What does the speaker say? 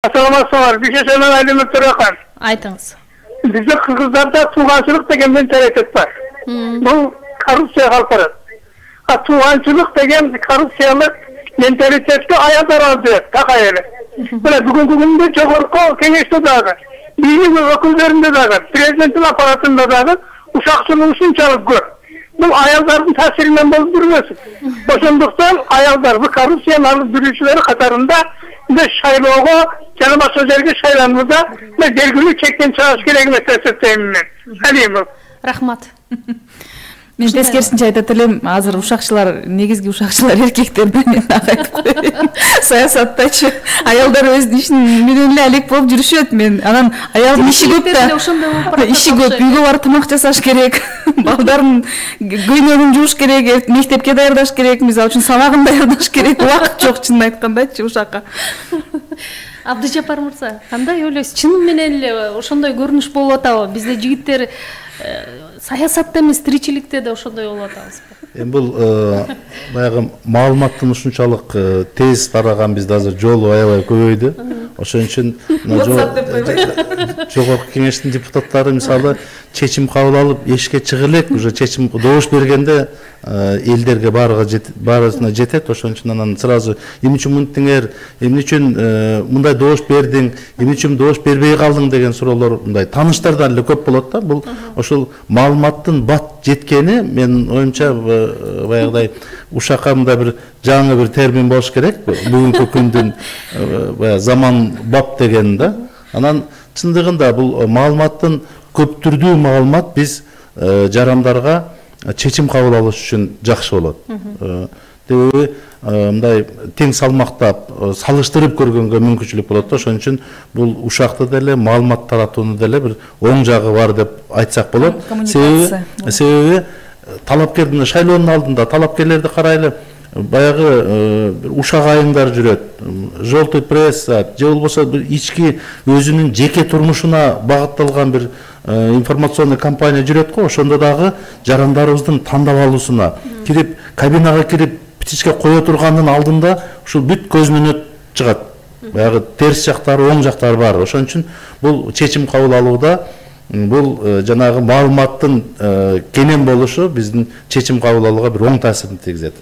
Assalamualaikum. Bir şey söylemem elimi tırıkan. Айтыңыз. Bizde Kırgızlarda tuğancılık degen mentalitet var. Bu korrupsiya kalkarır. Tuğancılık degen korrupsiyalık mentalitetli ayaklar aldı. Takayeli. Böyle bugünkü günde çok orku kengeçte dağı. Bizim öküllerinde dağı. Prezidentin aparatında dağı. Uşakçılığın şunçalık gör. Bu ayakların tasirinden bolup durmasın. Boşunduktan ayaklar bu korrupsiyanın dürüsçüleri katarında ve şayloğu canıma sözlerge şaylanmada ve belgülü çekten çalışı gerek meselesi teminler. Hadi bu. Рахмат. Мен тескерисинче айтат элем, азыр ушакчылар, негизги ушакчылар эркектер менен айтып коеюн. Саясаттачы аялдар өзүнүн ишин менен эле алек болуп жүрүшөт. Мен анан аялдын иши көп да. Иши көп, үйгө барып тамак жасаш керек. Балдарын көйнөгүн жууш керек, мектепке даярдаш керек, мисалы үчүн сабагын даярдаш керек. Убакыт жок, чынын айткандачы ушакка. Абдыжапар мырза, кандай ойлойсуз? Чын менен эле ошондой көрүнүш болуп атабы? Бизде жигиттер саясатта эмес, тиричиликте да ошондой болуп атабызбы? Эми бул баягы маалыматтын ушунчалык тез тараган бизде азыр жолу аябай көбөйдү. Ошон үчүн жогорку кеңештин депутаттары мисалы чечим кабыл алып эшикке чыга элек, уже чечим добуш бергенде элдерге баарысына жетет. Ошон үчүн анан сразу эмне үчүн мынтиңер, эмне үчүн мындай добуш бердиң, эмне үчүн добуш бербей калдың деген суроолор мындай тааныштардан эле көп болот да. Бул ошол маалыматтын бат жеткени менин оюмча баягыдай ушакка мындай бир жаңы бир термин болуш керек. Бүгүнкү күндүн баягы заман бап деген да. Анан чындыгында бул маалыматтын көп түрдүү маалымат биз жарандарга чечим кабыл алыш үчүн жакшы болот. Себеби мындай тең салмактап салыштырып көргөнгө мүмкүнчүлүк болот да. Ошон үчүн бул ушакты деле маалымат таратууну деле бир оң жагы бар деп айтсак болот. Себеби талапкердин шайлоонун алдында талапкерлерди карайлы, баягы ушак айыңдар жүрөт, желтый пресса же болбосо бир ички өзүнүн жеке турмушуна багытталган бир информационный компания жүрөт го. Ошондо дагы жарандарыбыздын тандап алуусуна кирип, кабинага кирип птичка кое тургандын алдында ушул бүт көзүнөн өтүп чыгат. Баягы терс жактары, оң жактары бар. Ошон үчүн бул чечим кабыл алууда бул жанагы маалыматтын кенен болушу биздин чечим кабыл алууга бир оң таасирин тийгизет.